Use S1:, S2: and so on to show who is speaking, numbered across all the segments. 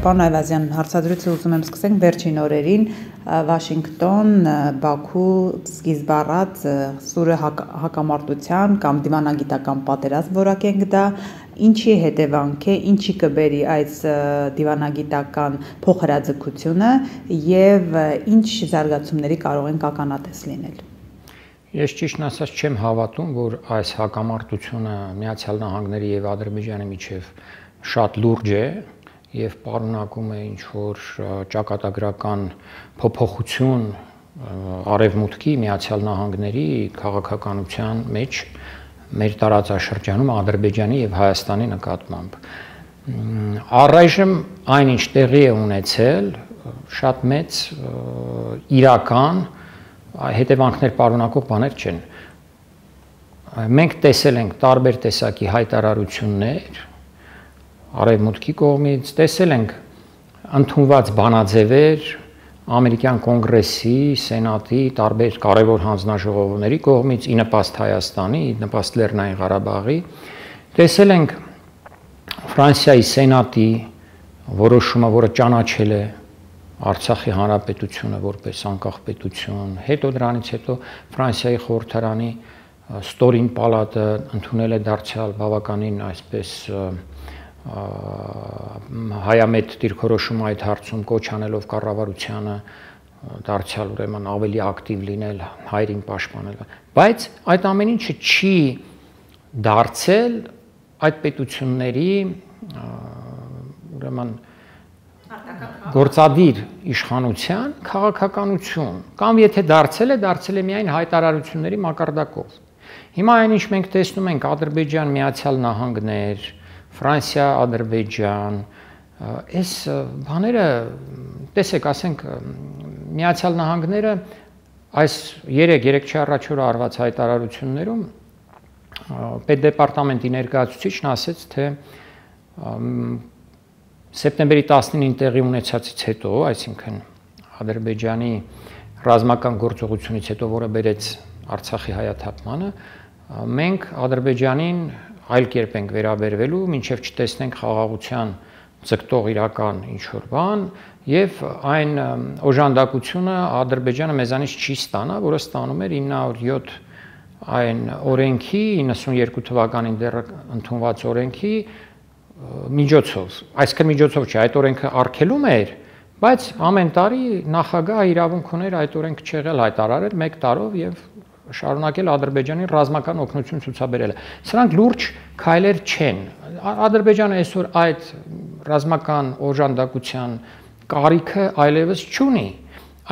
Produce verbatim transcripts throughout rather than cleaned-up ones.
S1: Պարոն Այվազյան, հարցադրույցը ուզում եմ սկսենք վերջին օրերին Վաշինգտոն, Բաքու սկիզբ առած սուրը հակամարտության կամ դիվանագիտական պատերազմ որակենք դա, ինչի հետևանք է, ինչի կբերի այս դիվանագիտական փոխհրաձգությունը եւ ինչ զարգացումների կարող են ականատես լինել։
S2: Ես ճիշտն ասած չեմ հավատում, որ այս հակամարտությունը Միացյալ Նահանգների եւ Ադրբեջանի միջև շատ լուրջ է եւ պարունակում է ինչ-որ ճակատագրական փոփոխություն արևմուտքի Միացյալ Նահանգների քաղաքականության մեջ մեր տարածաշրջանում Ադրբեջանի եւ Հայաստանի նկատմամբ։ Առայժմ այնինչ տեղի է ունեցել շատ մեծ իրական հետևանքներ պարունակող բաներ չեն։ Մենք տեսել ենք տարբեր տեսակի հայտարարություններ արևմուտքի կողմից, տեսել ենք ընդունված բանաձևեր ամերիկյան կոնգրեսի, սենատի, տարբեր կարևոր հանձնաժողովների կողմից ի նպաստ Հայաստանի, ի նպաստ Լեռնային Ղարաբաղի, տեսել ենք Ֆրանսիայի սենատի որոշումը, որը ճանաչել է Արցախի հանրապետությունը որպես անկախ պետություն, հետո դրանից հետո Ֆրանսիայի խորհրդարանի ստորին պալատը ընդունել է դարձյալ բավականին այսպես հայամետ դիրքորոշում այդ հարցում կոչ անելով կառավարությանը դարձյալ ուրեմն ավելի ակտիվ լինել, հայրին պաշտպանել, բայց այդ ամեն ինչը չի դարձել այդ պետությունների ուրեմն գործադիր իշխանության քաղաքականություն կամ եթե դարձել է, դարձել է միայն հայտարարությունների մակարդակով։ Հիմա այնինչ մենք տեսնում ենք Ադրբեջան, Միացյալ Նահանգներ, Ֆրանսիա, Ադրբեջան, այս բաները, տեսեք, ասենք Միացյալ Նահանգները այս երեք-երեք չառաջ օրը արված հայտարարություններում պետդեպարտամենտի ներկայացուցիչն ասեց, թե սեպտեմբերի տասնինին տեղի ունեցածից հետո, այսինքն Ադրբեջանի ռազմական գործողությունից հետո, որը բերեց Արցախի հայաթափմանը, մենք Ադրբեջանին այլ կերպ ենք վերաբերվելու, մինչև չտեսնենք խաղաղության ձգտող իրական ինչ-որ բան, եւ այն օժանդակությունը Ադրբեջանը մեզանից չի ստանա, որը ստանում էր ինը հարյուր յոթ այն օրենքի, իննսունյերկու թվականին դեռ ընդունված օրենքի միջոցով, այսքան միջոցով չէ, այդ օրենքը արգելում էր, բայց ամեն տարի նախագահը իրավունք ուներ այդ օրենքը չեղել հայտարարել մեկ տարով եւ շարունակել Ադրբեջանին ռազմական օգնություն ցուցաբերելը։ Սրանք լուրջ քայլեր չեն։ Ադրբեջանը այսօր այդ ռազմական օժանդակության կարիքը այլևս չունի։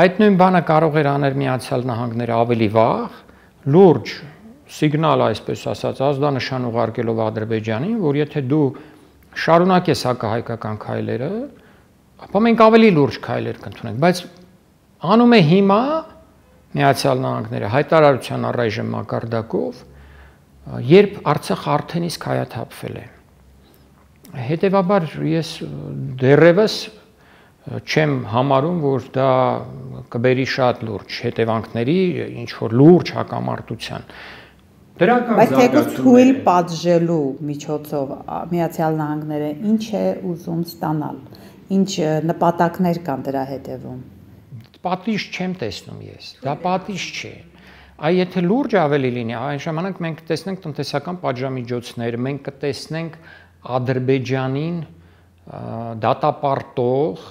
S2: Այդ նույն բանը կարող էր անել Միացյալ Նահանգները ավելի վաղ, լուրջ սիգնալ, այսպես ասած, ազդանշան ուղարկելով Ադրբեջանին, որ եթե դու շարունակես հակահայկական քայլերը, ապա մենք ավելի լուրջ քայլեր կընդունենք, բայց անում է հիմա Միացյալ Նահանգները հայտարարության առայժմ մակարդակով, երբ Արցախը արդեն իսկ հայաթափվել է։ Հետևաբար ես դեռևս չեմ համարում, որ դա կբերի շատ լուրջ հետևանքների, ինչ որ լուրջ հակամարտության։
S1: Բայց թեկուզ թույլ պատժելու միջոցով Միացյալ Նահանգները ինչ է ուզում ստանալ, ինչ նպատակներ կան դրա հետևում։
S2: Պատիժ չեմ տեսնում ես, դա պատիժ չէ։ Այ եթե լուրջ ավելի լինի, այն ժամանակ մենք տեսնենք տնտեսական պատժամիջոցներ, մենք կտեսնենք Ադրբեջանին դատապարտող,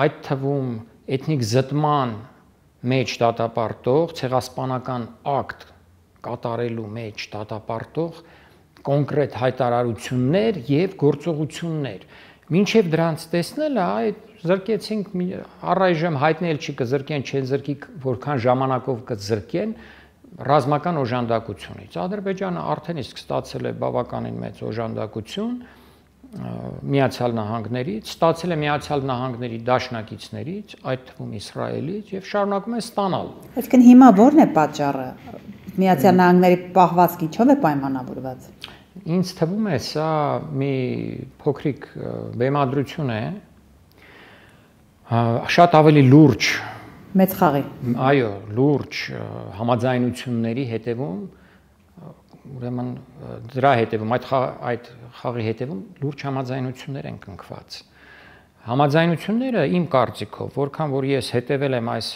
S2: այդ թվում էթնիկ զտման մեջ դատապարտող, ցեղասպանական ակտ կատարելու մեջ դատապարտող կոնկրետ հայտարարություններ եւ գործողություններ։ Մինչև դրանց տեսնելը, այդ զրկեցինք առայժմ հայտնի էլ չի կզրկեն, չեն զրկի, որքան ժամանակով կզրկեն ռազմական օժանդակությունից։ Ադրբեջանը արդեն իսկ ստացել է բավականին մեծ օժանդակություն Միացյալ Նահանգներից, ստացել է Միացյալ Նահանգների դաշնակիցներից, այդ թվում Իսրայելից եւ շարունակում է ստանալ։
S1: Այսինքն հիմա ո՞րն է պատճառը։ Միացյալ Նահանգների պահվածքը ինչով է պայմանավորված։
S2: Ինձ թվում է սա մի փոքրիկ բեմադրություն է, շատ ավելի լուրջ
S1: մեծ խաղի։
S2: Այո, լուրջ համաձայնությունների հետևում, ուրեմն դրա հետևում այդ այդ խաղի հետևում լուրջ համաձայնություններ են կնքված։ Համաձայնությունները իմ կարծիքով, որքան որ ես հետևել եմ այս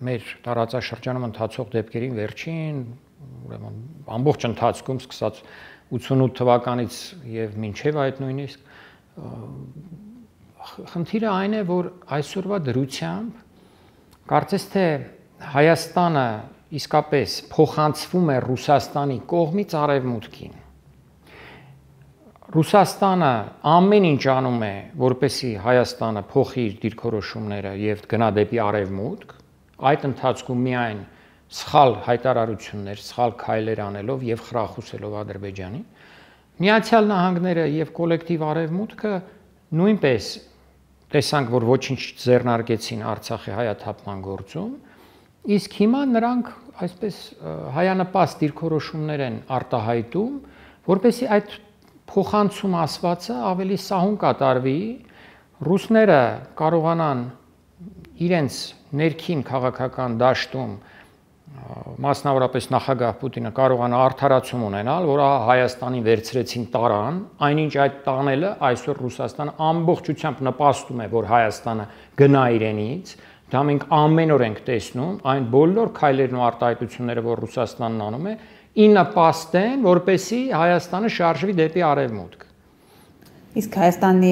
S2: մեր տարածաշրջանում ընթացող դեպքերին վերջին, ուրեմն ամբողջ ընթացքում սկսած ութսունութ թվականից եւ մինչեւ այդ նույնիսկ խնդիրը այն է, որ այսօրվա դրությամբ կարծես թե Հայաստանը իսկապես փոխանցվում է Ռուսաստանի կողմից արևմուտքին։ Ռուսաստանը ամեն ինչ անում է, որպեսզի Հայաստանը փոխի իր դիրքորոշումները եւ գնա դեպի արևմուտք, այդ ընթացքում միայն սխալ հայտարարություններ, սխալ քայլեր անելով եւ խրախուսելով Ադրբեջանին, Միացյալ Նահանգները եւ կոլեկտիվ արևմուտքը նույնպես տեսանք, որ ոչինչ ձեռնարկեցին Արցախի հայաթափման գործում, իսկ հիմա նրանք այսպես հայանպաստ դիրքորոշումներ են արտահայտում, որպեսզի այդ փոխանցում ասվածը ավելի սահուն կատարվի, ռուսները կարողանան իրենց ներքին քաղաքական դաշտում, մասնավորապես նախագահ Պուտինը կարողանա արդարացում ունենալ, որ Հայաստանին վերցրեցին տարան, այնինչ այդ տանելը այսօր Ռուսաստանը ամբողջությամբ նպաստում է, որ Հայաստանը գնա իրենից, դա մենք ամեն օր ենք տեսնում, այն բոլոր քայլերն ու արտահայտությունները, որ Ռուսաստանն անում է, ի նպաստ են, որպեսզի Հայաստանը շարժվի դեպի արևմուտք։
S1: Իսկ Հայաստանի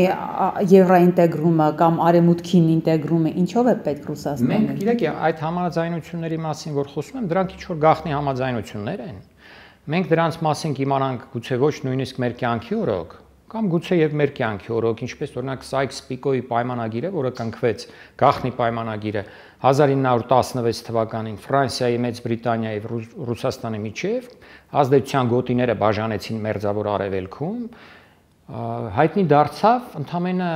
S1: եվրոինտեգրումը կամ արևմուտքին ինտեգրումը ինչով է պետք Ռուսաստանին։
S2: Մենք գիտեք, այդ համաձայնությունների մասին, որ խոսում եմ, դրանք ինչ որ գաղտնի համաձայնություններ են։ Մենք դրանց մասին կիմանանք գուցե ոչ նույնիսկ մեր կյանքի օրոք, կամ գուցե եւ մեր կյանքի օրոք, ինչպես օրինակ Սայքս-Պիկոյի պայմանագիրը, որը կնքվեց, գաղտնի պայմանագիրը հազար ինը հարյուր տասնվեց թվականին Ֆրանսիայի, Մեծ Բրիտանիայի եւ Ռուսաստանի միջև, ազդեցության գոտիները բաժանեցին մերձավոր արևելքում, հայտնի դարձավ ընդամենը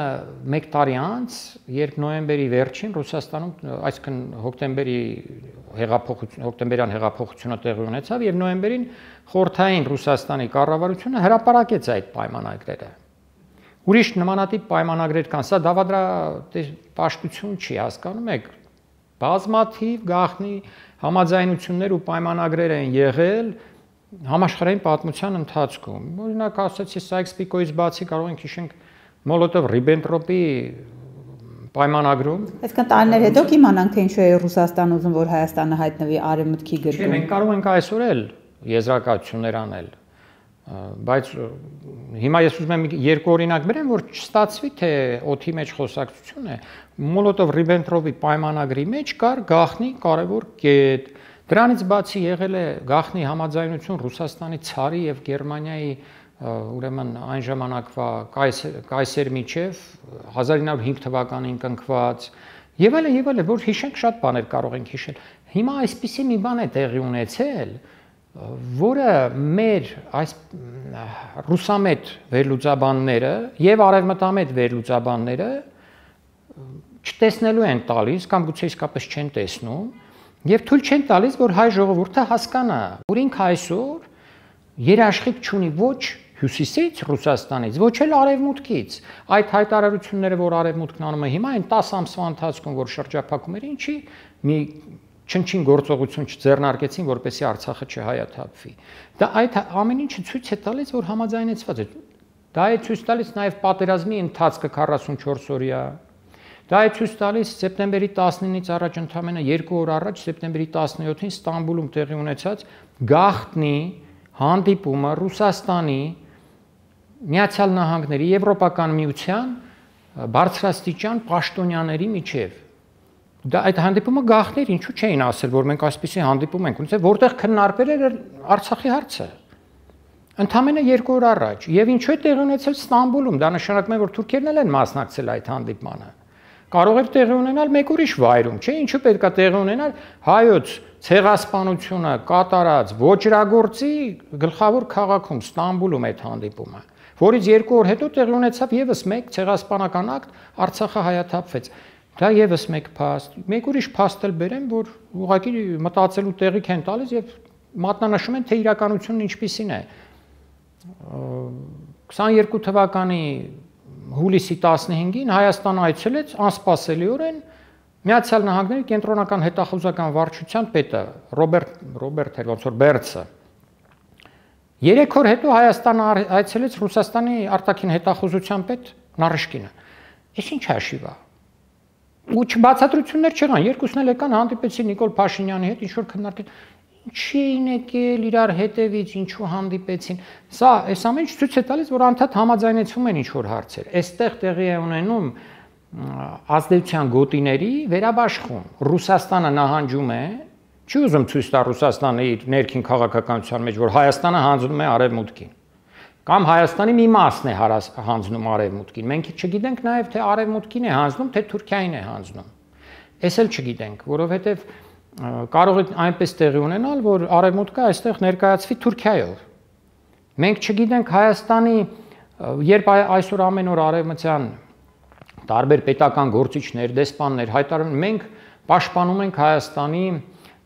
S2: մեկ տարի անց, երբ նոյեմբերի վերջին Ռուսաստանում, այսինքն հոկտեմբերի հեղափոխություն, հոկտեմբերյան հեղափոխությունը տեղի ունեցավ եւ նոյեմբերին խորհրդային Ռուսաստանի կառավարությունը հրապարակեց այդ պայմանագրերը։ Ուրիշ նմանատիպ պայմանագրեր կան, սա դավադրապաշտություն չի, հասկանում եք, բազմաթիվ գաղտնի համաձայնություններ ու պայմանագրեր են եղել համաշխարհային պատմության ընթացքում։ Օրինակ ասացի Սայքս-Պիկոյից բացի կարող ենք հիշենք Մոլոտով-Ռիբենտրոպի պայմանագրում։
S1: Այսինքն տարիներ հետո կիմանանք, թե ինչու է Ռուսաստանը ուզում, որ Հայաստանը հայտնվի արևմուտքի գրկում։
S2: Չէ, մենք կարող ենք այսօր էլ եզրակացություններ անել, բայց հիմա ես ուզում եմ երկու օրինակ բերեմ, որ չստացվի, թե օդի մեջ խոսակցություն է։ Մոլոտով-Ռիբենտրոպի պայմանագրի մեջ կար գաղտնի կարևոր կետ։ Դրանից բացի եղել է գաղտնի համաձայնություն Ռուսաստանի ցարի եւ Գերմանիայի ուրեմն այն ժամանակվա կայսեր միջև հազար ինը հարյուր հինգ թվականին կնքված եւ այլն եւ այլն, որ հիշենք շատ բաներ կարող ենք հիշել։ Հիմա այսպիսի մի բան է տեղի ունեցել, որը մեր այս ռուսամետ վերլուծաբանները եւ արևմտամետ վերլուծաբանները չտեսնելու են տալիս կամ գուցե իսկապես չեն տեսնում եւ թույլ չեն տալիս, որ հայ ժողովուրդը հասկանա, որ ինքը այսօր երաշխիք չունի ոչ հյուսիսից Ռուսաստանից, ոչ էլ արևմուտքից։ Այդ հայտարարությունները, որ արևմուտքն անում է հիմա, այն տասը ամսվա ընթացքում, որ շրջափակում էր, ինչի մի չնչին գործողություն չձեռնարկեցին, որպեսզի Արցախը չհայաթափվի։ Դա այդ ամեն ինչը ցույց է տալիս, որ համաձայնեցված է։ Դա է ցույց տալիս նաեւ պատերազմի ընթացքը քառասունչորս օրյա։ Դա է ցույց տալիս սեպտեմբերի տասնինից առաջ ընդամենը երկու օր առաջ սեպտեմբերի տասնյոթին Ստամբուլում տեղի ունեցած գաղտնի հանդիպումը Ռուսաստանի, Միացյալ Նահանգների, Եվրոպական միության բարձրաստիճան պաշտոնյաների միջև։ Դա այդ հանդիպումը գաղտնի էր, ինչու չէին ասել, որ մենք այսպիսի հանդիպում ենք ունեցել, որտեղ քննարկվել էր Արցախի հարցը։ Ընդամենը երկու օր առաջ, եւ ինչու է տեղի ունեցել Ստամբուլում, դա նշանակում է, որ թուրքերն էլ են մասնակցել այդ հանդիպմանը։ Կարող էր տեղի ունենալ մեկ ուրիշ վայրում, չէ՞, ինչու պետքա տեղի ունենալ հայոց ցեղասպանությունը կատարած ոչրագործի գլխավոր քաղաքում Ստամբուլում այդ հանդիպումը, որից երկու օր հետո տեղի ունեցավ եւս մեկ ցեղասպանական ակտ, Արցախը հայաթափվեց։ Դա եւս մեկ փաստ, մեկ ուրիշ փաստ էլ բերեմ, որ ուղղակի մտածելու տեղիք են տալիս եւ մատնանշում են, թե իրականությունն ինչպիսին է։ քսաներկու թվականի հուլիսի տասնհինգին Հայաստան այցելեց անսպասելիորեն Միացյալ Նահանգների կենտրոնական հետախուզական վարչության պետը Ռոբերտ Ռոբերտ էր ոնց որ Բերցը։ Երեք օր հետո Հայաստան այցելեց Ռուսաստանի արտաքին հետախուզության պետ Նարիշկինը։ Էս ինչ հաշիվ է։ Ու չբացատրություններ չեղան, երկուսն էլ եկան հանդիպեցին Նիկոլ Փաշինյանի հետ, ինչ որ քննարկել, ինչի էին եկել իրար հետևից, ինչու հանդիպեցին։ Սա այս ամեն ինչ ցույց է տալիս, որ անդադ համաձայնեցում են ինչ որ հարցեր։ Այստեղ տեղի է ունենում ազդեցության գոտիների վերաբաշխում։ Ռուսաստանը նահանջում է, չի ուզում ցույց տա Ռուսաստանը իր ներքին քաղաքականության մեջ, որ Հայաստանը հանձնում է արևմուտքին։ Կամ Հայաստանի մի մասն է հանձնում արևմուտքին։ Մենք չգիտենք նաև թե արևմուտքին է հանձնում, թե Թուրքիային է հանձնում։ Էս էլ չգիտենք, որովհետև կարող է այնպես տեղի ունենալ, որ արևմուտքը այստեղ ներկայացվի Թուրքիայով։ Մենք չգիտենք Հայաստանի, երբ այսօր ամեն օր արևմտյան տարբեր պետական գործիչներ, դեսպաններ հայտարարում, մենք պաշտպանում ենք Հայաստանի,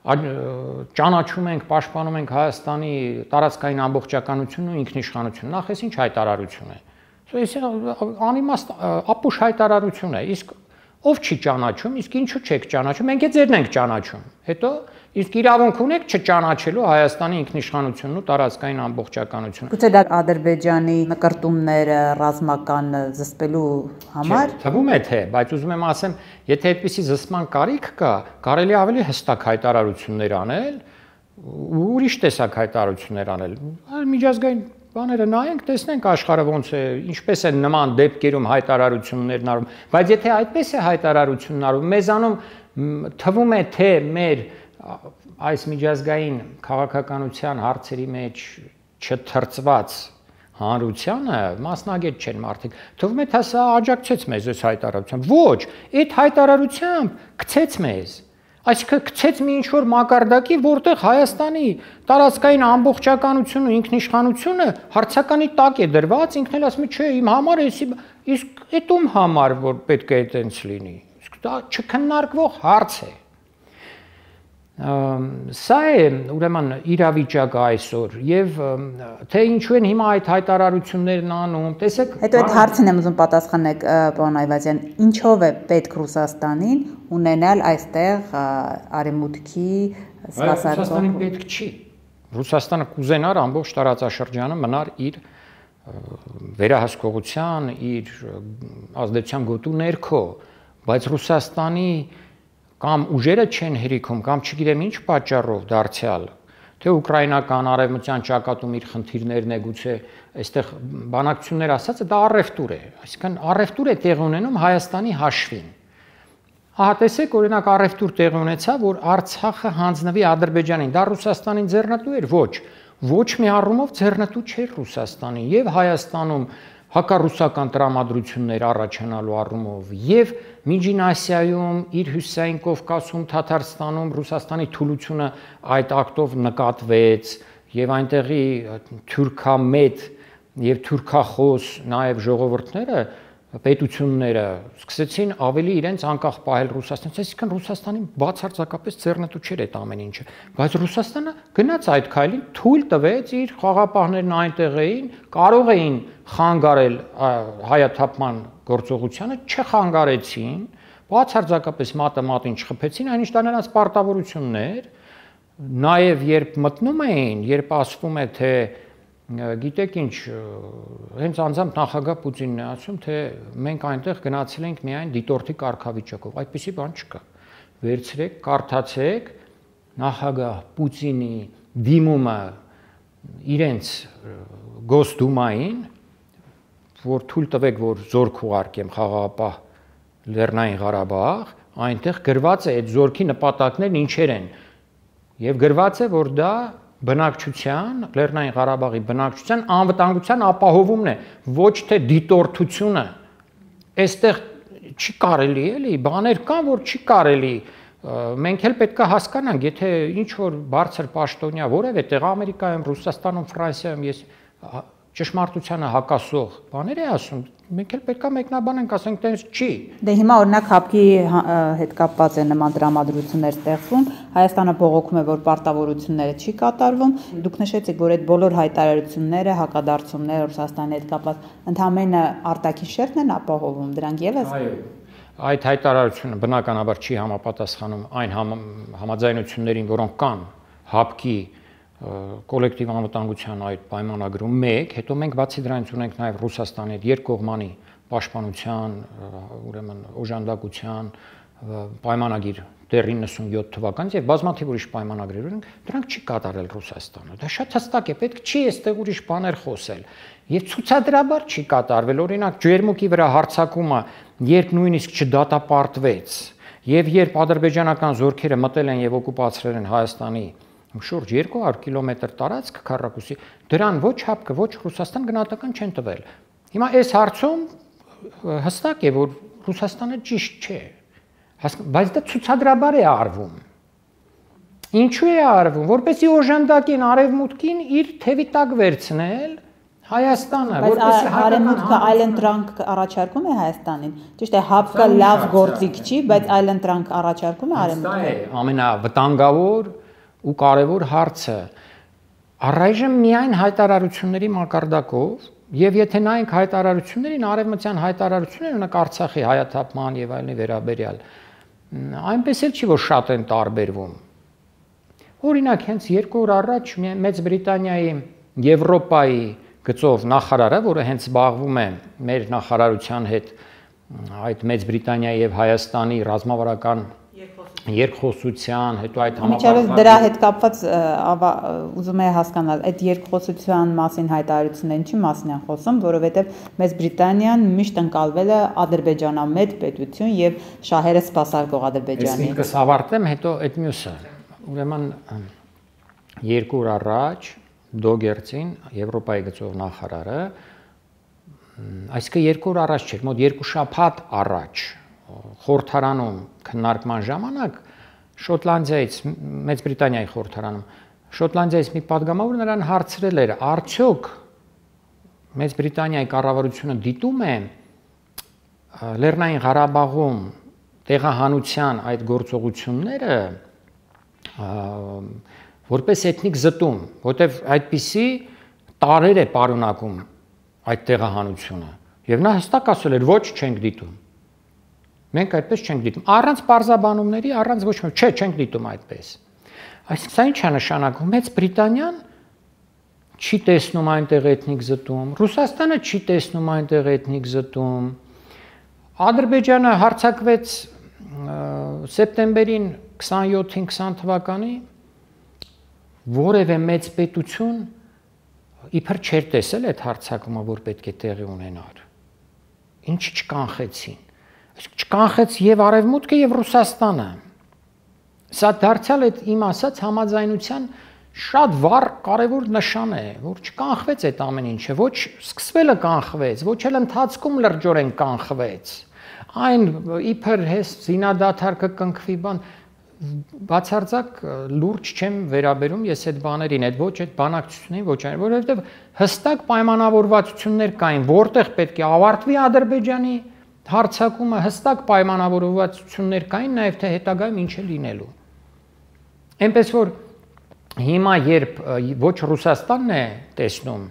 S2: ճանաչում ենք, պաշտպանում ենք Հայաստանի տարածքային ամբողջականությունն ու ինքնիշխանությունը։ Նախ էս ինչ հայտարարություն է։ Այս անիմաստ ապուշ հայտարարություն է։ Իսկ ով չի ճանաչում, իսկ ինչու չեք ճանաչում։ Մենք է ձերն ենք ճանաչում։ Հետո իսկ իրավունք ունեք չճանաչելու Հայաստանի ինքնիշխանությունն ու տարածքային ամբողջականությունը։
S1: Գուցե դա Ադրբեջանի նկարտումները ռազմական զսպելու համար։
S2: Թվում է թե, բայց ուզում եմ ասեմ, եթե այդպիսի զսպման կարիք կա, կարելի ավելի հստակ հայտարարություններ անել, ու ուրիշ տեսակ հայտարարություններ անել։ Միջազգային բաները նայենք, տեսնենք աշխարհը ոնց է, ինչպես են նման դեպքերում հայտարարություններն արվում, բայց եթե այդպես է հայտարարությունն արվում, մեզանում թվում է թե մեր այս միջազգային քաղաքականության հարցերի մեջ չթրծված հանրությանը մասնագետ չեն մարդիկ, թվում է թե սա աջակցեց մեզ այս հայտարարությամբ, ոչ, այդ հայտարարությամբ գցեց մեզ, այսինքն գցեց մի ինչ-որ մակարդակի, որտեղ Հայաստանի տարածքային ամբողջականությունն ու ինքնիշխանությունը հարցականի տակ է դրված, ինքն էլ ասում է, չէ, իմ համար է, իսկ այդ ում համար որ պետք է այդպես լինի։ Իսկ դա չքննարկվող հարց է։ Սա է ուրեմն իրավիճակը այսօր եւ թե ինչու են հիմա այդ հայտարարություններն անում, տեսեք։
S1: Հետո այդ հարցին եմ ուզում պատասխանեք, պարոն Այվազյան, ինչով է պետք Ռուսաստանին ունենալ այստեղ արևմուտքի սպասարկող։
S2: Ռուսաստանին պետք չի։ Ռուսաստանը կուզենար ամբողջ տարածաշրջանը մնար իր վերահսկողության, իր ազդեցության գոտու ներքո, բայց Ռուսաստանի կամ ուժերը չեն հերիքում, կամ չգիտեմ ինչ պատճառով դարձյալ, թե ուկրաինական արևմտյան ճակատում իր խնդիրներն է, գուցե այստեղ բանակցություններ ասածը դա առևտուր է, այսինքն առևտուր է տեղի ունենում Հայաստանի հաշվին։ Ահա տեսեք, օրինակ առևտուր տեղի ունեցավ, որ Արցախը հանձնվի Ադրբեջանին, դա Ռուսաստանին ձեռնտու էր, ոչ, ոչ մի առումով ձեռնտու չէր Ռուսաստանին, եւ Հայաստանում հակառուսական տրամադրություններ առաջանալու առումով եւ Միջին Ասիայում, իր հյուսիսային Կովկասում, Թաթարստանում Ռուսաստանի թուլությունը այդ ակտով նկատվեց եւ այնտեղի թուրքամետ եւ թուրքախոս նաեւ ժողովուրդները պետությունները սկսեցին ավելի իրենց անկախ պահել Ռուսաստանից, այսինքն Ռուսաստանին բացարձակապես ձեռնտու չէր այդ ամեն ինչը, բայց Ռուսաստանը գնաց այդ քայլին, թույլ տվեց իր խաղապահներն այնտեղ էին, կարող էին խանգարել հայաթափման գործողությանը, չխանգարեցին, բացարձակապես մատը մատին չխփեցին, այնինչ դա նրանց պարտավորությունն էր, նաև երբ մտնում էին, երբ ասվում է թե գիտեք ինչ, հենց անձամբ նախագահ Պուտինն է ասում, թե մենք այնտեղ գնացել ենք միայն դիտորդի կարգավիճակով, այդպիսի բան չկա։ Վերցրեք, կարդացեք նախագահ Պուտինի դիմումը իրենց Գոսդումային, որ թույլ տվեք, որ զորք ուղարկեմ խաղաղապահ Լեռնային Ղարաբաղ, այնտեղ գրված է այդ զորքի նպատակներն ինչեր են, եւ գրված է, որ դա բնակչության, Լեռնային Ղարաբաղի բնակչության անվտանգության ապահովումն է, ոչ թե դիտորդությունը։ Այստեղ չի կարելի էլի, բաներ կան, որ չի կարելի։ Մենք էլ պետք է հասկանանք, եթե ինչ որ բարձր պաշտոնյա որևէ տեղ Ամերիկայում, Ռուսաստանում, Ֆրանսիայում ես ճշմարտությանը հակասող բաներ է ասում, մենք էլ պետք է մեկնաբանենք, ասենք տենց չի։
S1: Դե հիմա օրինակ հապկի հետ կապված է նման տրամադրություններ ստեղծվում, Հայաստանը բողոքում է, որ պարտավորությունները չի կատարվում, դուք նշեցիք, որ այդ բոլոր հայտարարությունները, հակադարձումները Ռուսաստանի հետ կապված ընդհանրապես արտաքին շերտն են ապահովում, դրանք եւս։
S2: Այո։ Այդ հայտարարությունը բնականաբար չի համապատասխանում այն համաձայնություններին, որոնք կան հապկի կոլեկտիվ անվտանգության այդ պայմանագրում մեկ, հետո մենք բացի դրանից ունենք նաև Ռուսաստանի հետ երկկողմանի պաշտպանության, ուրեմն օժանդակության պայմանագիր դեռ իննսունյոթ թվականից եւ բազմաթիվ ուրիշ պայմանագրեր ունենք, դրանք չի կատարել Ռուսաստանը։ Դա շատ հստակ է, պետք չի այստեղ ուրիշ բաներ խոսել։ Եվ ցուցադրաբար չի կատարվել, օրինակ ջերմուկի վրա հարձակումը, երբ նույնիսկ չդատապարտվեց, եւ երբ ադրբեջանական զորքերը մտել են եւ օկուպացրել են Հայաստանի շուրջ երկու հարյուր կիլոմետր տարածք քառակուսի, դրան ոչ ՀԱՊԿ, ոչ Ռուսաստան գնահատական չեն տվել։ Հիմա այս հարցում հստակ է, որ Ռուսաստանը ճիշտ չէ, բայց դա ցուցադրաբար է արվում։ Ինչու է արվում, որպեսզի օժանդակեն արևմուտքին իր թևի տակ վերցնել Հայաստանը,
S1: որպեսզի արևմուտքը այլընտրանք առաջարկում է Հայաստանին։ Ճիշտ է, ՀԱՊԿ լավ գործիք չի, բայց այլընտրանք առաջարկում է արևմուտքը։
S2: Դա է ամենավտանգավոր ու կարևոր հարցը։ Առայժմ միայն հայտարարությունների մակարդակով, եւ եթե նայենք հայտարարություններին, արևմտյան հայտարարությունները ունենք Արցախի հայաթափման եւ այլնի վերաբերյալ, այնպես էլ չի, որ շատ են տարբերվում։ Օրինակ, հենց երկու օր առաջ Մեծ Բրիտանիայի Եվրոպայի գծով նախարարը, որը հենց զբաղվում է մեր նախարարության հետ այդ Մեծ Բրիտանիայի եւ Հայաստանի ռազմավարական երկխոսության, հետո այդ
S1: համապարփակ դրա հետ կապված ուզում եմ հասկանալ, այդ երկխոսության մասին հայտարարությունն ինչի մասին են խոսում, որովհետեւ Մեծ Բրիտանիան միշտ ընկալվել է ադրբեջանամետ պետություն եւ շահերը սպասարկող Ադրբեջանի։
S2: Ես ինքս ավարտեմ, հետո այդ մյուսը։ Ուրեմն երկու օր առաջ Դոգերցին Եվրոպայի գծով նախարարը, այսինքն երկու օր առաջ չէր, մոտ երկու շաբաթ առաջ խորհրդարանում քննարկման ժամանակ Շոտլանդիայից, Մեծ Բրիտանիայի խորհրդարանում, Շոտլանդիայից մի падգամավոր նրան հարցրել էր, արդյոք Մեծ Բրիտանիայի կառավարությունը դիտում է Լեռնային Ղարաբաղում տեղահանության այդ գործողությունները որպես էթնիկ զտում, որտեվ այդպիսի տարեր է պարունակում այդ տեղահանությունը։ Եվ նա հստակ ասել էր, ոչ, չենք դիտում։ Մենք այդպես չենք դիտում։ Առանց պարզաբանումների, առանց ոչ մի, չէ, չենք դիտում այդպես։ Այսինքն սա ի՞նչ է նշանակում։ Մեծ Բրիտանիան չի տեսնում այնտեղ էթնիկ զտում, Ռուսաստանը չի տեսնում այնտեղ էթնիկ զտում։ Ադրբեջանը հարձակվեց սեպտեմբերին քսանյոթին քսան թվականի որևէ մեծ պետություն իբր չէր տեսել այդ հարձակումը, որ պետք է տեղի ունենար։ Ինչ չկանխեցին։ Այսինքն չկանխեց եւ Արևմուտքը եւ Ռուսաստանը։ Սա դարձյալ այդ իմ ասած համաձայնության շատ վառ կարևոր նշան է, որ չկանխվեց այդ ամեն ինչը, ոչ սկսվելը կանխվեց, ոչ էլ ընթացքում լրջորեն կանխվեց։ Այն իբր հես զինադադար կկնքվի բան բացարձակ լուրջ չեմ վերաբերում ես այդ բաներին, այդ ոչ այդ բանակցություններին, ոչ այն, որովհետև հստակ պայմանավորվածություններ կային, որտեղ պետք է ավարտվի Ադրբեջանի հարձակումը, հստակ պայմանավորվածություններ կային, նաև թե հետագայում ինչ է լինելու։ Այնպես որ հիմա երբ ոչ Ռուսաստանն է տեսնում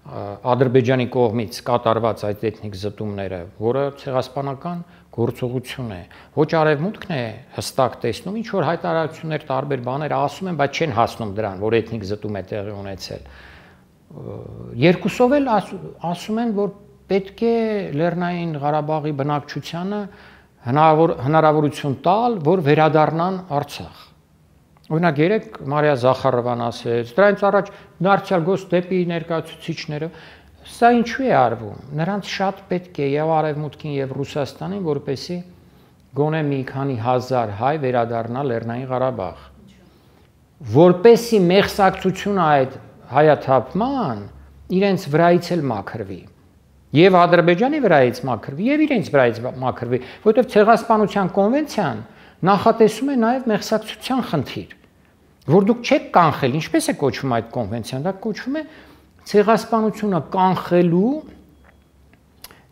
S2: Ադրբեջանի կողմից կատարված այդ էթնիկ զտումները, որը ցեղասպանական գործողություն է, ոչ Արևմուտքն է հստակ տեսնում, ինչ որ հայտարարություններ, տարբեր բաներ ասում են, բայց չեն հասնում դրան, որ էթնիկ զտում է տեղի ունեցել։ Երկուսով էլ ասում են, որ պետք է Լեռնային Ղարաբաղի բնակչությանը հնարավորություն տալ, որ վերադառնան Արցախ։ Օրինակ երեք Մարիա Զախարովան ասեց, դրանից առաջ դարձյալ գոս դեպի ներկայացուցիչները, սա ինչու է արվում։ Նրանց շատ պետք է եւ Արևմուտքին եւ Ռուսաստանին, որպեսզի գոնե մի քանի հազար հայ վերադառնա Լեռնային Ղարաբաղ։ Որպեսզի մեղսակցությունը այդ հայաթափման իրենց վրայից էլ մաքրվի։ Եվ Ադրբեջանի վրայից մաքրվի, եւ իրենց վրայից մաքրվի, որովհետեւ ցեղասպանության կոնվենցիան նախատեսում է նաև մեղսակցության խնդիր, որ դուք չեք կանխել, ինչպես է կոչվում այդ կոնվենցիան, դա կոչվում է ցեղասպանությունը կանխելու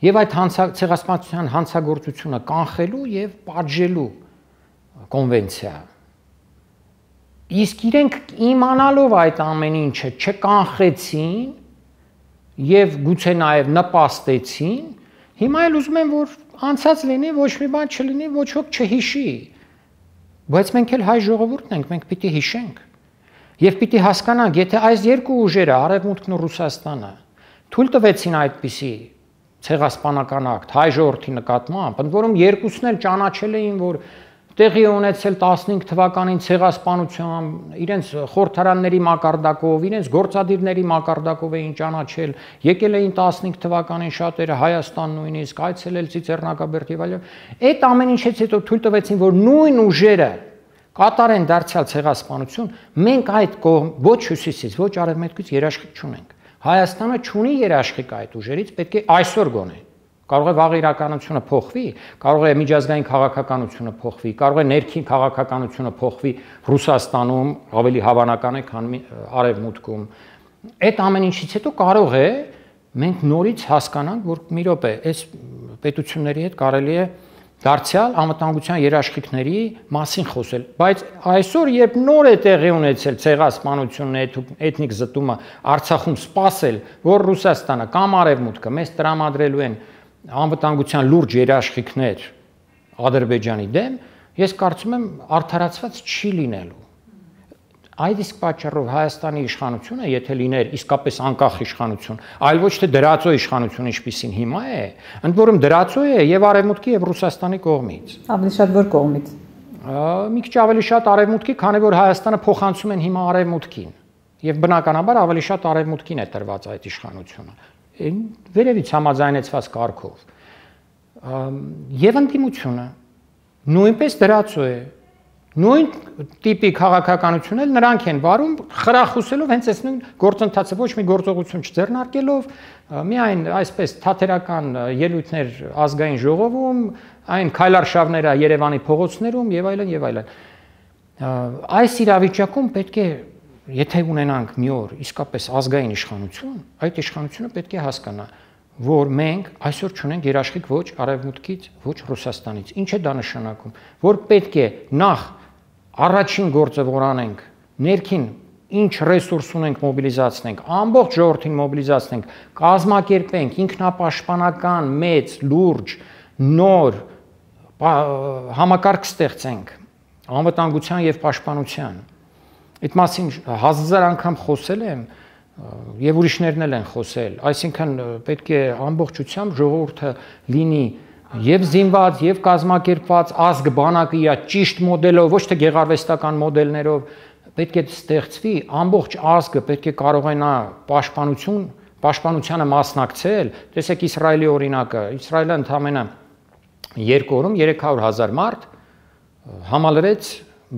S2: եւ այդ ցեղասպանության հանցագործությունը կանխելու եւ պատժելու կոնվենցիա։ Իսկ իրենք իմանալով այդ ամեն ինչը չկանխեցին եւ գուցե նաև նպաստեցին, հիմա էլ ուզում են, որ անցած լինի, ոչ մի բան չլինի, ոչ ոք չհիշի։ Բայց մենք էլ հայ ժողովուրդն ենք, մենք պիտի հիշենք։ Եվ պիտի հասկանանք, եթե այս երկու ուժերը, Արևմուտքն ու Ռուսաստանը, թույլ տվեցին այդպիսի ցեղասպանական ակտ հայ ժողովրդի նկատմամբ, ընդ որում երկուսն էլ ճանաչել էին, որ տեղի ունեցել տասնհինգ թվականին ցեղասպանությամբ, իրենց խորհրդարանների մակարդակով, իրենց գործադիրների մակարդակով էին ճանաչել, եկել էին տասնհինգ թվականին շատերը Հայաստան նույնիսկ, այցելել Ծիծեռնակաբերդ եւ այլն։ Այդ ամեն ինչից հետո թույլ տվեցին, որ նույն ուժերը կատարեն դարձյալ ցեղասպանություն, մենք այդ կողմ ոչ հյուսիսից, ոչ արևմուտքից երաշխիք չունենք։ Հայաստանը չունի երաշխիք այդ ուժերից, պետք է այսօր գոնե։ Կարող է վաղ իրականությունը փոխվի, կարող է միջազգային քաղաքականությունը փոխվի, կարող է ներքին քաղաքականությունը փոխվի Ռուսաստանում, ավելի հավանական է, քան արևմուտքում։ Այդ ամեն ինչից հետո կարող է մենք նորից հասկանանք, որ մի րոպե, այս պետությունների հետ կարելի է դարձյալ անվտանգության երաշխիքների մասին խոսել, բայց այսօր երբ նոր է տեղի ունեցել ցեղասպանությունը, էթնիկ զտումը Արցախում, սпасել, որ Ռուսաստանը կամ արևմուտքը մեզ տրամադրելու են անվտանգության լուրջ երաշխիքներ Ադրբեջանի դեմ, ես կարծում եմ արդարացված չի լինելու։ Այդ իսկ պատճառով Հայաստանի իշխանությունը, եթե լիներ իսկապես անկախ իշխանություն, այլ ոչ թե դրածո իշխանություն, ինչպիսին հիմա է, ընդ որում դրածո է եւ Արևմուտքի եւ Ռուսաստանի կողմից։
S1: Ավելի շատ որ կողմից։
S2: Մի քիչ ավելի շատ Արևմուտքի, քանի որ Հայաստանը փոխանցում են հիմա Արևմուտքին, եւ բնականաբար ավելի շատ Արևմուտքին է տրված այդ իշխանությունը։ Վերևից համաձայնեցված կարգով։ Եվ ընդդիմությունը նույնպես դրածո է։ Նույն տիպի քաղաքականություն էլ նրանք են վարում, խրախուսելով հենց այս նույն գործընթացը, ոչ մի գործողություն չձեռնարկելով, միայն այսպես թատերական ելույթներ ազգային ժողովում, այն քայլարշավները Երևանի փողոցներում եւ այլն եւ այլն։ Այս իրավիճակում պետք է, եթե ունենանք մի օր իսկապես ազգային իշխանություն, այդ իշխանությունը պետք է հասկանա, որ մենք այսօր չունենք երաշխիք ոչ Արևմուտքից, ոչ Ռուսաստանից։ Ինչ է դա նշանակում, որ պետք է նախ առաջին գործը որ անենք, ներքին ինչ ռեսուրս ունենք մոբիլիզացնենք, ամբողջ ժողովրդին մոբիլիզացնենք, կազմակերպենք ինքնապաշտպանական մեծ, լուրջ, նոր համակարգ ստեղծենք անվտանգության եւ պաշտպանության։ Այդ մասին հազար անգամ խոսել եմ եւ ուրիշներն էլ են խոսել, այսինքն պետք է ամբողջությամբ ժողովուրդը լինի եւ զինված, եւ կազմակերպված, ազգ բանակը իր ճիշտ մոդելով, ոչ թե գեղարվեստական մոդելներով, պետք է ստեղծվի, ամբողջ ազգը պետք է կարողանա պաշտպանություն, պաշտպանությանը մասնակցել։ Տեսեք Իսրայելի օրինակը, Իսրայելը ընդամենը երկու օրում երեք հարյուր հազար մարդ համալրեց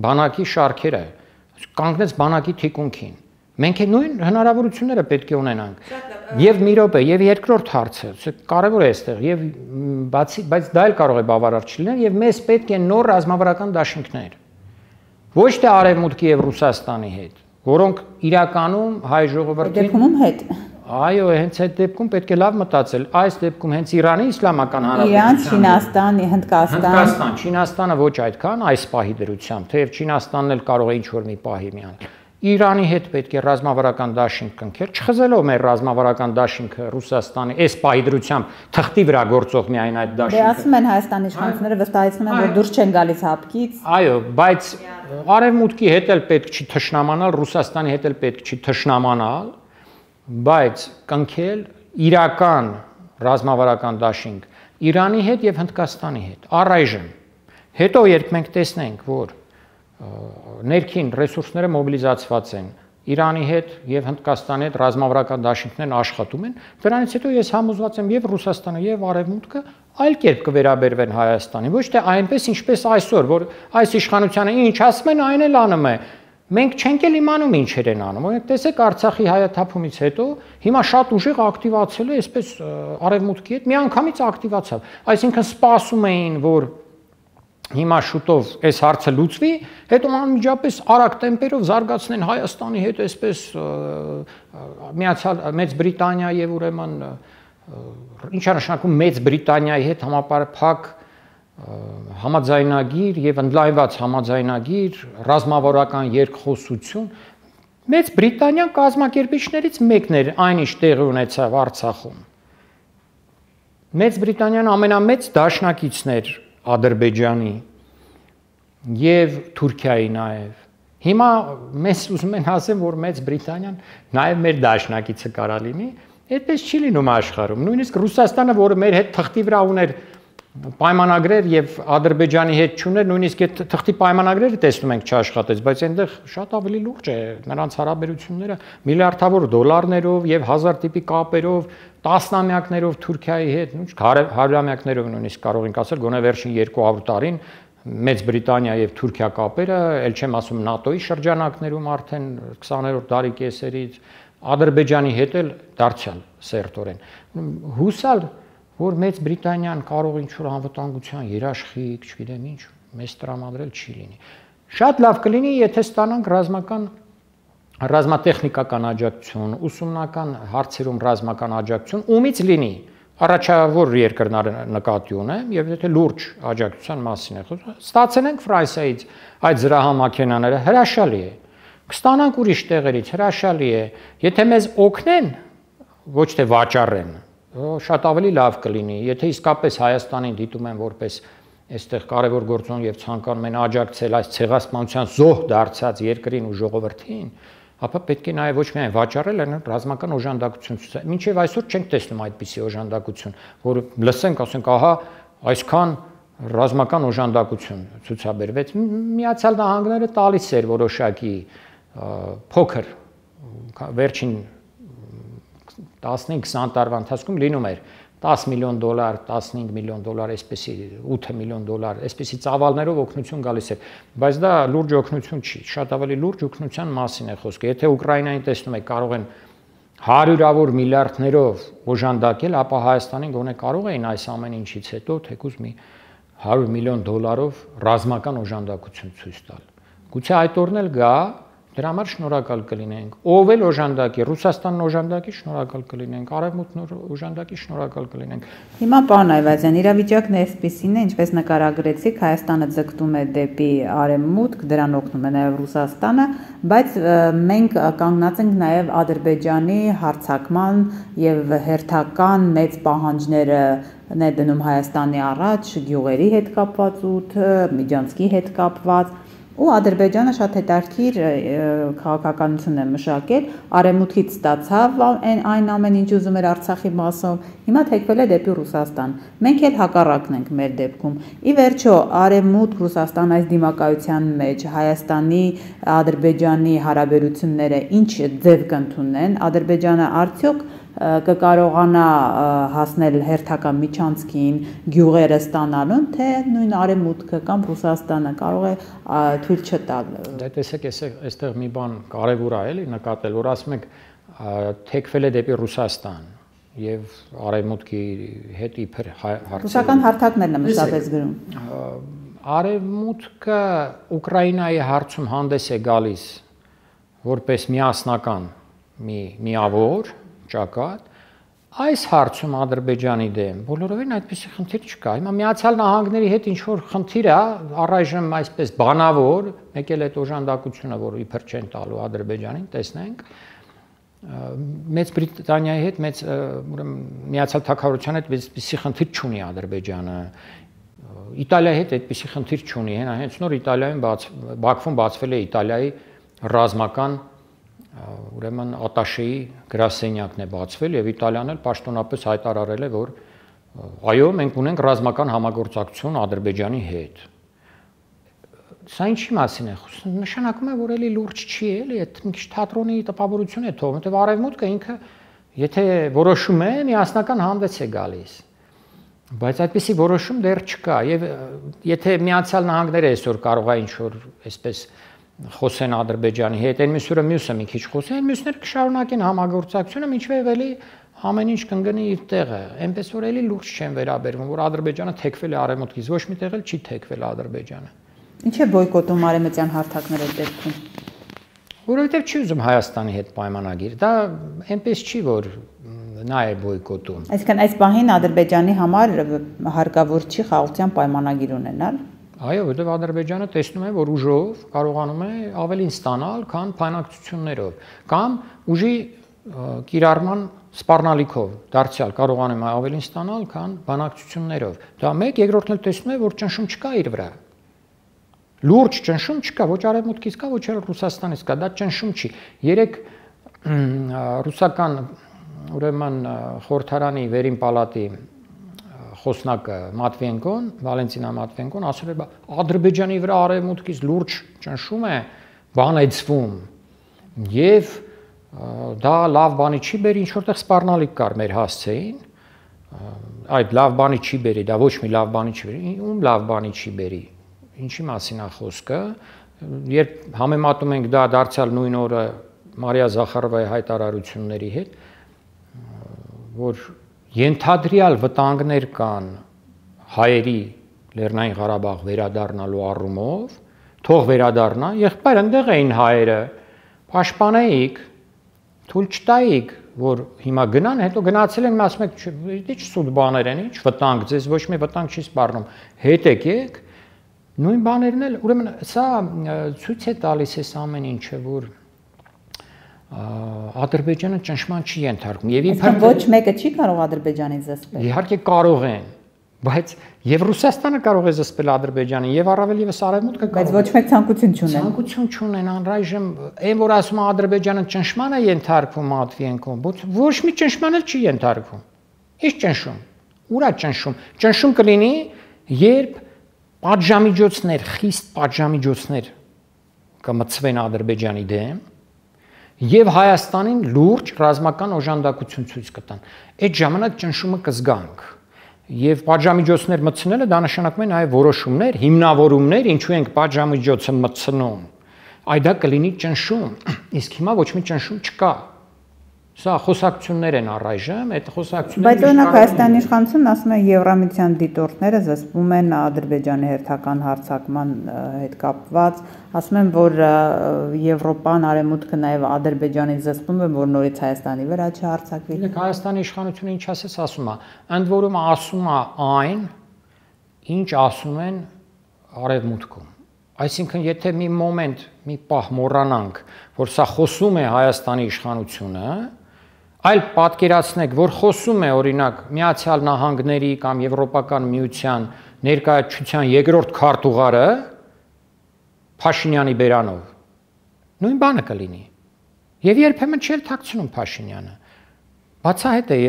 S2: բանակի շարքերը, կանգնեց բանակի թիկունքին։ Մենք նույն հնարավորությունները պետք է ունենանք։ Եվ մի րոպե, եւ երկրորդ հարցը, կարևոր է այստեղ, եւ բացի, բայց դա էլ կարող է բավարար չլինել, եւ մեզ պետք է նոր ռազմավարական դաշինքներ։ Ոչ թե Արևմուտքի եւ Ռուսաստանի հետ, որոնք իրականում հայ ժողովրդին
S1: դեպքում հետ։
S2: Այո, հենց այդ դեպքում պետք է լավ մտածել։ Այս դեպքում հենց Իրանի Իսլամական Հանրապետությունը,
S1: Իրան, Չինաստան, Հնդկաստան։
S2: Հնդկաստան, Չինաստանը ոչ այդքան այս պահի դրությամբ, թեև Չինաստանն էլ կարող է ինչ-որ մի պահի միանալ։ Իրանի հետ պետք է ռազմավարական դաշինք կնքել, չխզելով մեր ռազմավարական դաշինքը Ռուսաստանի այս պահի դրությամբ թղթի վրա գործող միայն այդ դաշինքը։
S1: Դե ասում են Հայաստանի իշխանությունները վստահեցնում են, որ դուրս չեն գալիս հապկից։
S2: Այո, բայց Արևմուտքի հետ էլ պետք չի թշնամանալ, Ռուսաստանի հետ էլ պետք չի թշնամանալ, բայց կնքել իրական ռազմավարական դաշինք Իրանի հետ եւ Հնդկաստանի հետ առայժմ։ Հետո երբ մենք տեսնենք, որ ներքին ռեսուրսները մոբիլիզացված են Իրանի հետ եւ Հնդկաստանի հետ ռազմավարական դաշինքներն աշխատում են, դրանից հետո ես համոզված եմ եւ Ռուսաստանը եւ Արևմուտքը այլ կերպ կվերաբերվեն Հայաստանին, ոչ թե այնպես ինչպես այսօր, որ այս իշխանությանը ինչ ասում են, այն էլ անում է։ Մենք չենք էլ իմանում ինչեր են անում։ Օրինակ տեսեք Արցախի հայաթափումից հետո հիմա շատ ուժեղ ակտիվացել է, այսպես Արևմուտքի հետ միանգամից ակտիվացավ։ Այսինքն սպասում էին, որ հիմա շուտով այս հարցը լուծվի, հետո անմիջապես արագ տեմպերով զարգացնեն Հայաստանի հետ, այսպես միացյալ Մեծ Բրիտանիա եւ ուրեմն ինչ է նշանակում Մեծ Բրիտանիայի հետ համապարփակ համաձայնագիր եւ ընդլայնված համաձայնագիր, ռազմավարական երկխոսություն։ Մեծ Բրիտանիան կազմակերպիչներից մեկն էր այն ինչ տեղի ունեցավ Արցախում։ Մեծ Բրիտանիան ամենամեծ դաշնակիցն էր Ադրբեջանի եւ Թուրքիայի նաեւ։ Հիմա մեզ ուզում են ասեն, որ Մեծ Բրիտանիան նաեւ մեր դաշնակիցը կարա լինի, Այդպես չի լինում աշխարհում։ Նույնիսկ Ռուսաստանը, որը մեր հետ թղթի վրա ուներ պայմանագրեր եւ Ադրբեջանի հետ չուներ, նույնիսկ այդ թղթի պայմանագրերը տեսնում ենք չաշխատեց, բայց այնտեղ շատ ավելի լուրջ է նրանց հարաբերությունները միլիարդավոր դոլարներով եւ հազար տիպի կապերով, տասնամյակներով Թուրքիայի հետ, հարյուրամյակներով նույնիսկ կարող ենք ասել, գոնե վերջին երկու հարյուր տարին Մեծ Բրիտանիա եւ Թուրքիա կապերը, ել չեմ ասում ՆԱՏՕ-ի շրջանակներում արդեն քսաներորդ դարի կեսերից Ադրբեջանի հետ էլ դարձյալ սերտորեն։ Հուսալ, որ Մեծ Բրիտանիան կարող ինչ-որ անվտանգության երաշխիք, չգիտեմ ինչ, մեզ տրամադրել չի լինի։ Շատ լավ կլինի, եթե ստանանք ռազմական ռազմատեխնիկական աջակցություն, ուսումնական հարցերում ռազմական աջակցություն, ումից լինի։ Առաջավոր երկրները նկատի ունեմ եւ եթե լուրջ աջակցության մասին է խոսքը, ստացել ենք Ֆրանսիայից այդ զրահամաքենաները, հրաշալի է։ Կստանանք ուրիշ տեղերից, հրաշալի է։ Եթե մեզ օգնեն, ոչ թե վաճառեն, շատ ավելի լավ կլինի։ Եթե իսկապես Հայաստանին դիտում են որպես այստեղ կարևոր գործոն եւ ցանկանում են աջակցել այս ցեղասպանության զոհ դարձած երկրին ու ժողովրդին, ապա պետք է նաև ոչ միայն վաճառել, այլ ռազմական օժանդակություն ցույց։ Մինչև այսօր չենք տեսնում այդպիսի օժանդակություն, որ լսենք, ասենք, ահա, այսքան ռազմական օժանդակություն ցուցաբերվեց։ Միացյալ Նահանգները տալիս էր որոշակի փոքր վերջին տասնհինգ քսան տարվա ընթացքում լինում էր տաս միլիոն դոլար, տասնհինգ միլիոն դոլար, այսպեսի ութ միլիոն դոլար, այսպեսի ծավալներով օգնություն գալիս էր, բայց դա լուրջ օգնություն չի, շատ ավելի լուրջ օգնության մասին է խոսքը։ Եթե Ուկրաինային տեսնում եք, կարող են հարյուրավոր միլիարդներով օժանդակել, ապա Հայաստանին գոնե կարող էին այս ամեն ինչից հետո թեկուզ մի հարյուր միլիոն դոլարով ռազմական օժանդակություն ցույց տալ։ Գուցե այդ օրն էլ գա, դրա համար շնորհակալ կլինենք։ Ով էլ օժանդակի, Ռուսաստանն օժանդակի շնորհակալ կլինենք, Արևմուտքն օժանդակի շնորհակալ կլինենք։
S1: Հիմա պարոն Այվազյան, իրավիճակն այսպեսին է, ինչպես նկարագրեցիք, Հայաստանը ձգտում է դեպի Արևմուտք, դրան օգնում է նաև Ռուսաստանը, բայց մենք կանգնած ենք նաև Ադրբեջանի հարձակման եւ հերթական մեծ պահանջները է դնում Հայաստանի առաջ, գյուղերի հետ կապված ութը, Միջանցքի հետ կապված։ Ու Ադրբեջանը շատ հետաքրքիր քաղաքականություն է մշակել, Արևմուտքից ստացավ այն ամեն ինչ ուզում էր Արցախի մասով, հիմա թեքվել է դեպի Ռուսաստան։ Մենք էլ հակառակն ենք մեր դեպքում։ Ի վերջո, Արևմուտք Ռուսաստան այս դիմակայության մեջ Հայաստանի, Ադրբեջանի հարաբերությունները ինչ ձև կընդունեն, Ադրբեջանը արդյոք կկարողանա հասնել հերթական միջանցքին, գյուղերը ստանալուն, թե նույն Արևմուտքը կամ Ռուսաստանը կարող է թույլ չտալ։
S2: Դե տեսեք, այստեղ մի բան կարևոր է էլի նկատել, որ ասում եք թեքվել է դեպի Ռուսաստան եւ Արևմուտքի հետ իբր հարցեր։
S1: Ռուսական հարթակներն է մշտապես գրում։
S2: Արևմուտքը Ուկրաինայի հարցում հանդես է գալիս որպես միասնական մի միավոր ճակատ, այս հարցում Ադրբեջանի դեմ բոլորովին այդպիսի խնդիր չկա։ Հիմա Միացյալ Նահանգների հետ ինչ որ խնդիր է, առայժմ այսպես բանավոր, մեկ էլ այդ օժանդակությունը, որ իբր չեն տալու Ադրբեջանին, տեսնենք, Մեծ Բրիտանիայի հետ, մեծ ուրեմն Միացյալ Թագավորության հետ այդպիսի խնդիր չունի Ադրբեջանը։ Իտալիայի հետ այդպիսի խնդիր չունի, հենց նոր Իտալիայում Բաքվում բացվել է Իտալիայի ռազմական ուրեմն ատաշեի գրասենյակն է բացվել եւ Իտալիան էլ պաշտոնապես հայտարարել է, որ այո, մենք ունենք ռազմական համագործակցություն Ադրբեջանի հետ։ Սա ինչի մասին է խոսքը։ Նշանակում է, որ էլի լուրջ չի, էլի, այդ մի քիչ թատրոնի տպավորություն է թողում, որտեղ Արևմուտքը ինքը եթե որոշում է, միասնական հանդես է գալիս։ Բայց այդպիսի որոշում դեռ չկա եւ եթե Միացյալ Նահանգները այսօր կարող է ինչ-որ այսպես խոսեն Ադրբեջանի հետ, այն մյուսը մյուսը մի քիչ խոսեն, մյուսները կշարունակեն համագործակցությունը, մինչև էլի ամեն ինչ կընկնի իր տեղը։ Այնպես որ էլի լուրջ չեն վերաբերվում, որ Ադրբեջանը թեքվել է Արևմուտքից, ոչ մի տեղ էլ չի թեքվել Ադրբեջանը։
S1: Ինչ է բոյկոտում արևմտյան հարթակները դեպքում։
S2: Որովհետև չի ուզում Հայաստանի հետ պայմանագիր։ Դա այնպես չի, որ նա է բոյկոտում։
S1: Այսինքն այս պահին Ադրբեջանի համար հարկավոր չի խաղաղության պայմանագիր ունենալ։
S2: Այո, որտեղ Ադրբեջանը տեսնում է, որ ուժով կարողանում է ավելին ստանալ, քան բանակցություններով, կամ ուժի կիրառման սպառնալիքով, դարձյալ կարողանում է ավելին ստանալ, քան բանակցություններով։ Դա մեկ, երկրորդն էլ տեսնում է, որ ճնշում չկա իր վրա։ Լուրջ ճնշում չկա, ոչ Արևմուտքից կա, ոչ էլ Ռուսաստանից կա, դա ճնշում չի։ Երեք ռուսական ուրեմն խորհրդարանի վերին պալատի խոսնակը Մատվիենկոն, Վալենտինա Մատվիենկոն ասել է, Ադրբեջանի վրա արևմուտքից լուրջ ճնշում է, բանեցվում եւ դա լավ բանի չի բերի, ինչ որտեղ սպառնալիք կար մեր հասցեին, այդ լավ բանի չի բերի, դա ոչ մի լավ բանի չի բերի, ում լավ բանի չի բերի, ինչի մասին է խոսքը, երբ համեմատում ենք դա դարձյալ նույն օրը Մարիա Զախարովայի հայտարարությունների հետ, որ ենթադրյալ վտանգներ կան հայերի Լեռնային Ղարաբաղ վերադառնալու առումով, թող վերադառնա, եղբայր այնտեղ էին հայերը, պաշտպանեիք, թույլ չտայիք, որ հիմա գնան, հետո գնացել են, ասում եք, ինչ սուտ բաներ են, ինչ վտանգ, ձեզ ոչ մի վտանգ չի սպառնում, հետ եկեք, նույն բաներն էլ, ուրեմն սա ցույց է տալիս այս ամեն ինչը, որ Ադրբեջանը ճնշման չի ենթարկվում եւ
S1: իբր ոչ մեկը չի կարող Ադրբեջանին զսպել։
S2: Իհարկե կարող են, բայց եւ Ռուսաստանը կարող է զսպել Ադրբեջանին եւ առավել եւս Արևմուտքը կարող։
S1: Բայց ոչ մեկ ցանկություն չունեն։
S2: Ցանկություն չունեն, անրայժմ այն որ ասում է Ադրբեջանը ճնշման է ենթարկվում Մատվիենկոն, ոչ մի ճնշման էլ չի ենթարկվում։ Ինչ ճնշում։ Ուր է ճնշում։ Ճնշում կլինի, երբ պատժամիջոցներ, խիստ պատժամիջոցներ կմցվեն Ադրբեջանի դեմ եւ Հայաստանին լուրջ ռազմական օժանդակություն ցույց կտան։ Այդ ժամանակ ճնշումը կզգանք։ Եվ պատժամիջոցներ մտցնելը դա նշանակում է նաեւ որոշումներ, հիմնավորումներ, ինչու ենք պատժամիջոցը մտցնում։ Այ դա կլինի ճնշում, իսկ հիմա ոչ մի ճնշում չկա։ Սա խոսակցություններ են առայժմ, այդ խոսակցությունները
S1: Բայց օրինակ Հայաստանի իշխանությունն ասում է Եվրամիության դիտորդները զսպում են Ադրբեջանի հերթական հարձակման հետ կապված, ասում են, որ Եվրոպան, Արևմուտքը նաև Ադրբեջանին զսպում է, որ նորից Հայաստանի վրա չհարձակվի։
S2: Դեք Հայաստանի իշխանությունը ինչ ասես ասում է, ընդ որում ասում է այն, ինչ ասում են Արևմուտքում։ Այսինքն, եթե մի մոմենտ, մի պահ մոռանանք, որ սա խոսում է Հայաստանի իշխանությունը, այլ պատկերացնեք, որ խոսում է օրինակ Միացյալ Նահանգների կամ Եվրոպական միության ներկայացության երկրորդ քարտուղարը Փաշինյանի բերանով, նույն բանը կլինի։ Եվ երբեմն չէր թաքցնում Փաշինյանը։ Բացահայտ է,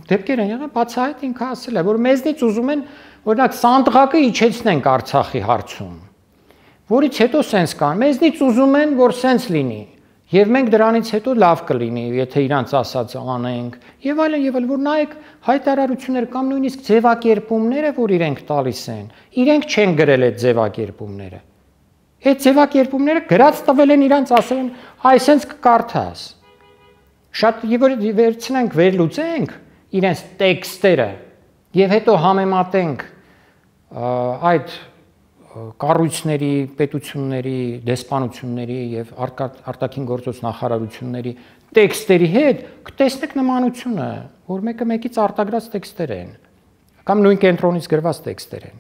S2: դեպքեր են եղել, բացահայտ ինքը ասել է, որ մեզնից ուզում են օրինակ Սանդղակը իջեցնենք Արցախի հարցում, որից հետո սենց կան, մեզնից ուզում են, որ սենց լինի։ Եվ մենք դրանից հետո լավ կլինի, եթե իրանց ասածը անենք, եւ այլն եւ այլն, որ նայեք հայտարարություններ կամ նույնիսկ ձևակերպումները, որ իրենք տալիս են, իրենք չեն գրել այդ ձևակերպումները։ Այդ ձևակերպումները գրած տվել են իրանց, ասել են, այսենց կկարդաս։ Շատ եւ որ վերցնենք, վերլուծենք իրենց տեքստերը եւ հետո համեմատենք այդ կառույցների, պետությունների, դեսպանությունների եւ արտաքին գործոց նախարարությունների տեքստերի հետ կտեսնեք նմանությունը, որ մեկը մեկից արտագրած տեքստեր են կամ նույն կենտրոնից գրված տեքստեր են։